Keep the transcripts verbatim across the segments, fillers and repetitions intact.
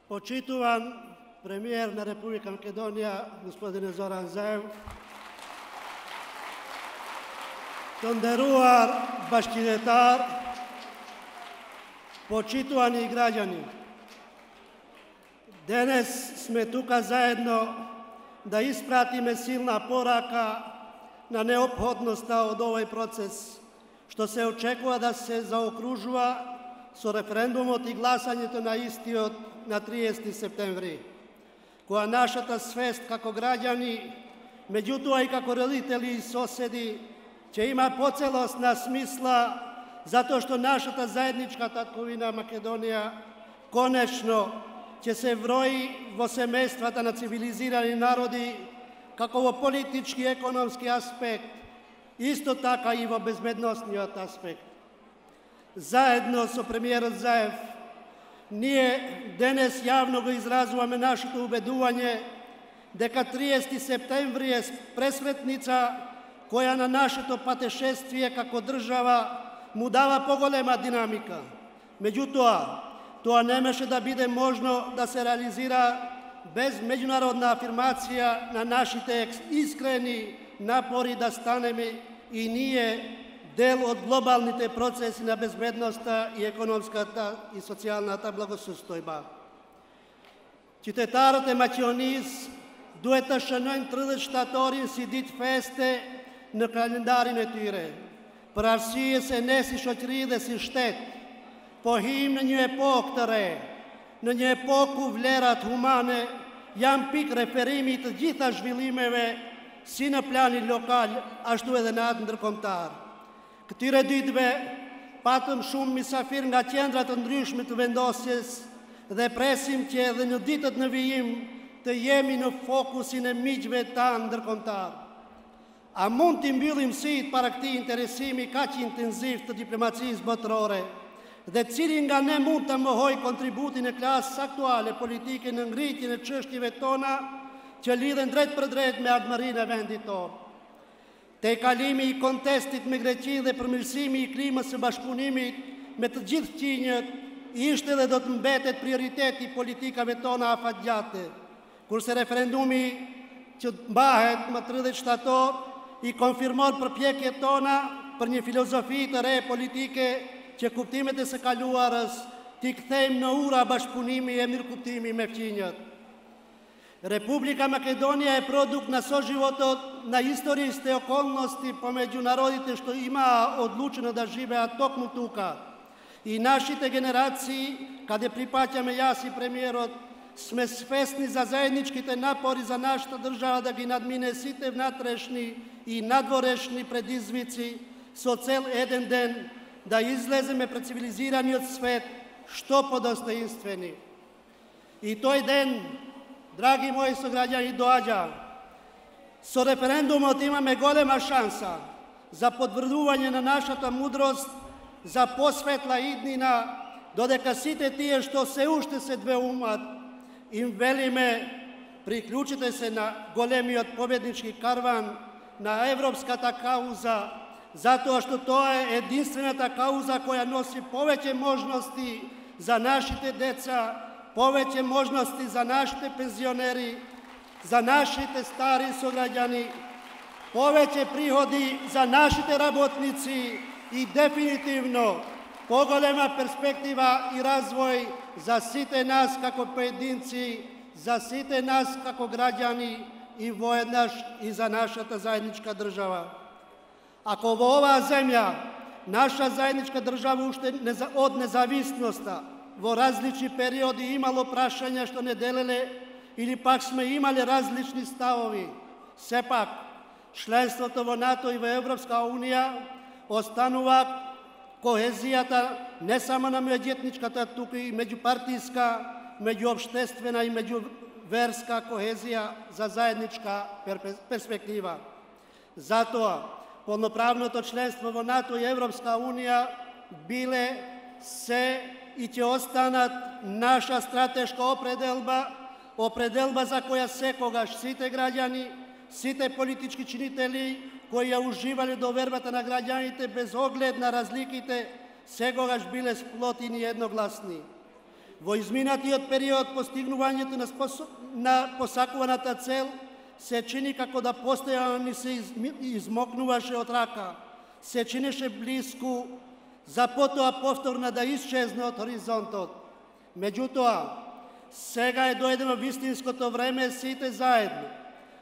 Почитуван премиер на Република Македонија, господине Зоран Заев, тондеруар башкидетар, почитувани граѓани. Денес сме тука заедно да испратиме силна порака на неопходноста од овој процес, што се очекува да се заокружува со референдумот и гласањето на истиот на триесети септември, која нашата свест како граѓани, меѓутоа и како родители и соседи, ќе има поцелосна смисла, затоа што нашата заедничка татковина Македонија конечно ќе се врои во семејствата на цивилизирани народи, како во политички и економски аспект, исто така и во безбедносниот аспект. Заедно со премиерот Заев, ние денес јавно го изразуваме нашето убедување дека триесети септември е пресветница која на нашето патешествие како држава му дава поголема динамика. Меѓутоа, тоа немаше да биде можно да се реализира без меѓународна афирмација на нашите искрени напори да станеме и ние дел од глобалните процеси на безбедноста и економската и социјалната благосостојба. Qytetarët e Maqedonisë duhet të shënojnë tridhjetë shtatorin si ditë feste në kalendarin e tyre, për arsye se ne si shoqëri dhe si shtet po him në një epokë të re, në një epokë ku vlerat humane janë pikë referimi të gjitha zhvillimeve si në planin lokal, ashtu edhe në atë ndërkombëtar. Këtyre ditëve patëm shumë misafir nga qendra të ndryshme të vendosjes dhe presim që edhe në ditët në vijim të jemi në fokusin e miqve tanë ndërkombëtar. A mund të mbyllim syt para këtij interesimi kaq intenziv të diplomacisë botërore dhe cili nga ne mund të mohoj kontributin e klasës aktuale politike në ngritjen e çështjeve tona që lidhen drejt për drejt me ardhmërinë e vendit tonë. Te kalimi i kontestit me Greqinë dhe përmirësimi i klimës së bashkëpunimit me të gjithë qinjët ishte dhe do të mbetet prioriteti politikave tona afatgjate, kurse referendumi që mbahet më tridhjetë shtator i konfirmon përpjekjet tona për një filozofi të re politike që kuptimet e së kaluarës t'i kthejmë në ura bashkëpunimi e mirëkuptimi me fqinjët. Republika Makedonija je produkt na soživotот na istorijske okolnosti pomeđu narodите što ima odlučeno da žive ad tok mutuka. I našite generaciji, kada pripaćame jas i premijerot, sme svesni za zajedničkite napori za našta država da gi nadmine site vnatrešni i nadvorešni predizvici so cel eden den da izlezeme pred civiliziraniot svet što podostojinstveni. I toj den, dragi moji sugrađani, doađa. So referendumot imame golema šansa za podvrđuvanje na našата mudrost, za posvetla idnina, dodeka site tije što se ušte se dve umat, im velime priključite se na golemiot pobjednički karvan, na evropskata kauza, zato što to je jedinstvenata kauza koja nosi poveće možnosti za našite deca, poveće možnosti za našite penzioneri, za našite stari sugrađani, poveće prihodi za našite rabotnici i definitivno pogolema perspektiva i razvoj za site nas kako pojedinci, za site nas kako građani i vojednaš i za našata zajednička država. Ako ova zemlja, naša zajednička država ušte od nezavisnosta, vo različni periodi imalo prašanja što ne delele ili pak sme imali različni stavovi. Sepak, členството во НАТО и во Европска унија останува kohezijata ne samo na međuetnička, туку и меѓупартиска, меѓуопштествена и меѓуверска kohezija za zajednička perspektiva. Затоа, полноправното членство во НАТО и Европска унија биле се и ќе останат наша стратешка определба, определба за која секогаш сите граѓани, сите политички чинители кои ја уживале довербата на граѓаните без оглед на разликите, секогаш биле сплотени едногласни. Во изминатиот период постигнувањето на, способ... на посакуваната цел се чини како да постојано ни се из... измокнуваше од рака, се чинеше близко, за потоа повторно да исчезне од хоризонтот. Меѓутоа, сега е дојдено вистинското време сите заедно,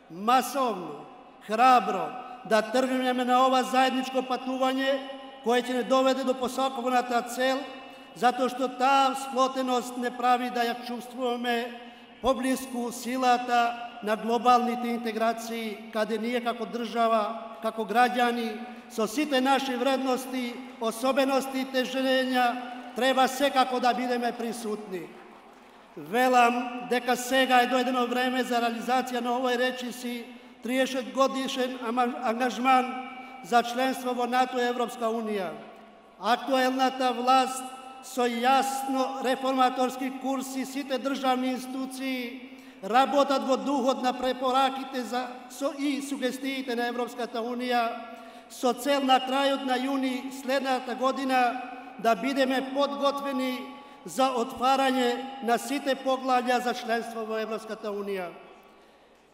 масовно, храбро, да тргнеме на ова заедничко патување, кое ќе не доведе до посакуваната цел, затоа што таа сплотеност не прави да ја чувствуваме поблиску силата на глобалните интеграции, каде ние како држава, како граѓани, со сите наши вредности, особености и тежења, треба секако да бидеме присутни. Велам дека сега е дојдено време за реализација на овој речиси триесет годишен ангажман за членство во НАТО и Европска Унија. Актуелната власт со јасно реформаторски курс и сите државни институции работат во духот на препораките за, со, и сугестиите на Европската Унија со цел на крајот на јуни следната година да бидеме подготвени за отварање на сите поглавја за членство во Европската Унија.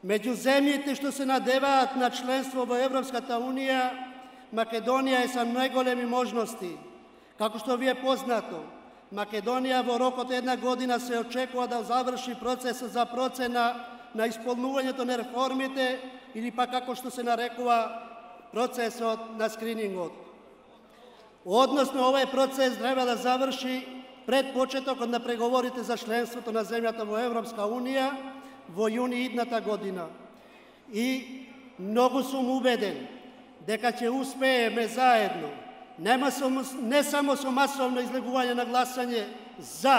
Меѓу земјите што се надеваат на членство во Европската Унија, Македонија е со најголеми можности. Како што ви е познато, Македонија во рокот една година се очекува да заврши процесот за процена на исполнувањето на реформите или пак како што се нарекува процесот на скринингот. Односно, овој процес треба да заврши пред почетокот на преговорите за членството на земјата во Европска Унија во јуни идната година. И многу сум убеден дека ќе успееме заедно, нема со, не само со масовно излегување на гласање за,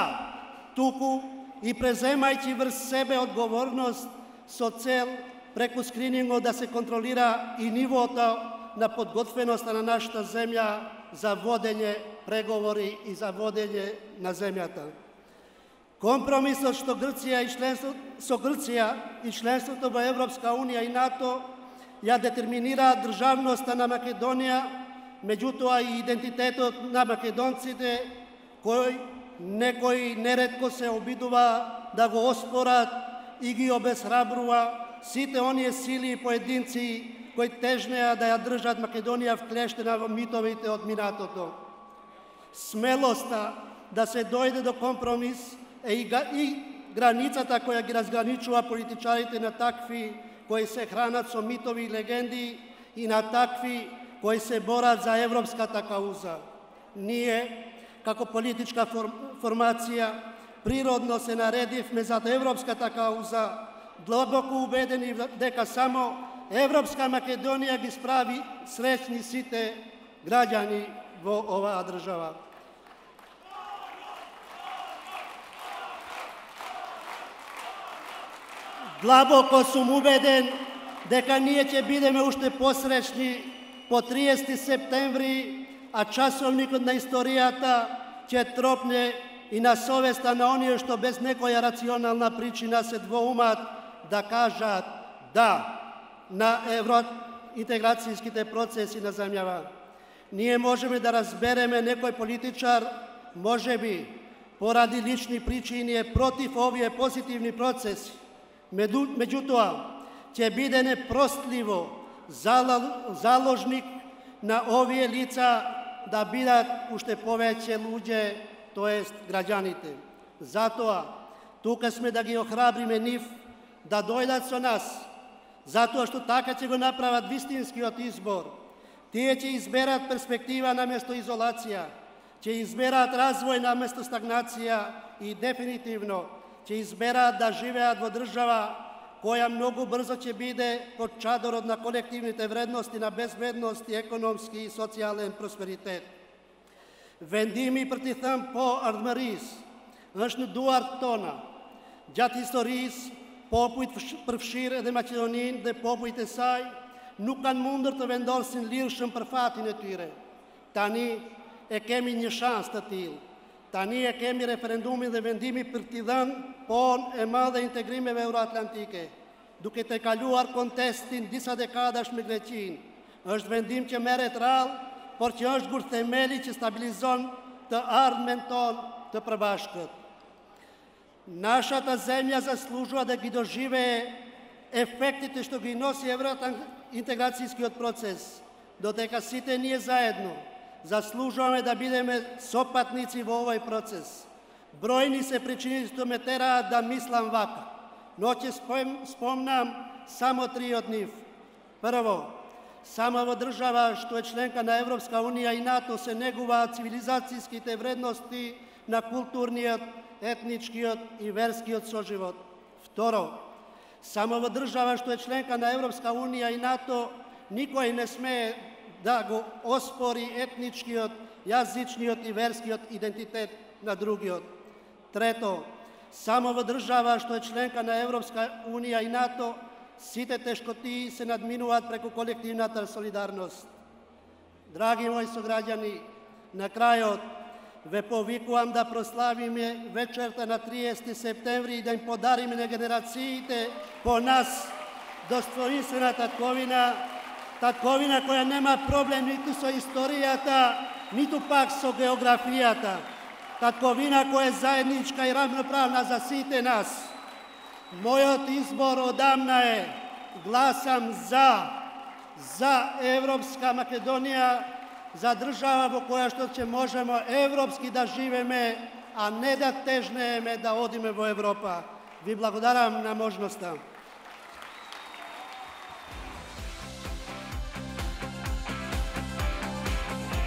туку и преземајќи врз себе одговорност со цел преку скринингот да се контролира и нивото на подготвеноста на нашата земја за водење преговори и за водење на земјата. Компромисот што Грција и членство, со Грција и членството во Европска Унија и НАТО ја детерминираат државноста на Македонија, меѓутоа и идентитетот на македонците, кој некои неретко се обидува да го оспорат и ги обесхрабрува сите оние сили и поединци кои тежнеа да ја држат Македонија вклештена во митовите од минатото. Смелоста да се дојде до компромис е и, и границата која ги разграничува политичарите на такви кои се хранат со митови и легенди и на такви кои се борат за европската кауза. Ние, како политичка формација, природно се наредивме за европската кауза, длабоко убедени дека само Европска Македонија ги справи среќни сите граѓани во оваа држава. Длабоко сум убеден дека ние ќе бидеме уште посреќни по триесети септември, а часовникот на историјата ќе тропне и на совеста на оние што без некоја рационална причина се двоумат да кажат да на евроинтеграцијските процеси на земјава. Ние можеме да разбереме некој политичар, можеби, поради лични причини е против овие позитивни процеси. Меѓутоа, ќе биде непростливо заложник на овие лица да бидат уште повеќе луѓе, тоест граѓаните. Затоа, тука сме да ги охрабриме нив да дојдат со нас, затоа што така ќе го направат вистинскиот избор. Тие ќе изберат перспектива наместо изолација, ќе изберат развој наместо стагнација и дефинитивно ќе изберат да живеат во држава која многу брзо ќе биде под чадорот на колективните вредности на безбедност и економски и социјален просперитет. Vendimi për t'i thëmë po ardhmëris, është në duart tona, gjatë historisë, popujt përfshirë edhe Maqedonin dhe popujt e saj nuk kanë mundur të vendosin lirshëm për fatin e tyre. Tani e kemi një shans të tillë. Tani e kemi referendumin dhe vendimi për t'i dhënë pon e madhe integrimeve euroatlantike, duke të kaluar kontestin disa dekadash me Greqinë. Është vendim që merret rrallë, por që është gur themeli që stabilizon të ardhmen tonë të përbashkët. Нашата земја заслужува да ги доживее ефектите што ги носи евроинтеграцијскиот процес, додека сите ние заедно заслужуваме да бидеме сопатници во овој процес. Бројни се причини што ме тераат да мислам вака, но ќе спомнам само три од нив. Прво, само во држава што е членка на Европска унија и НАТО се негуваат цивилизацијските вредности на културниот, етничкиот и верскиот соживот. Второ, само во држава што е членка на Европска унија и НАТО никој не смее да го оспори етничкиот, јазичниот и верскиот идентитет на другиот. Трето, само во држава што е членка на Европска унија и НАТО сите тешкотии се надминуваат преку колективната солидарност. Драги мои сограѓани, на крајот ве повикувам да прославиме вечерта на триесети септември и да им подариме на генерациите по нас достоинствена татковина, татковина која нема проблем ниту со историјата, ниту пак со географијата. Татковина која е заедничка и равноправна за сите нас. Мојот избор одамна е, гласам за, за Европска Македонија, за држава во која што ќе можеме европски да живеме, а не да тежнееме да одиме во Европа. Ви благодарам на можноста.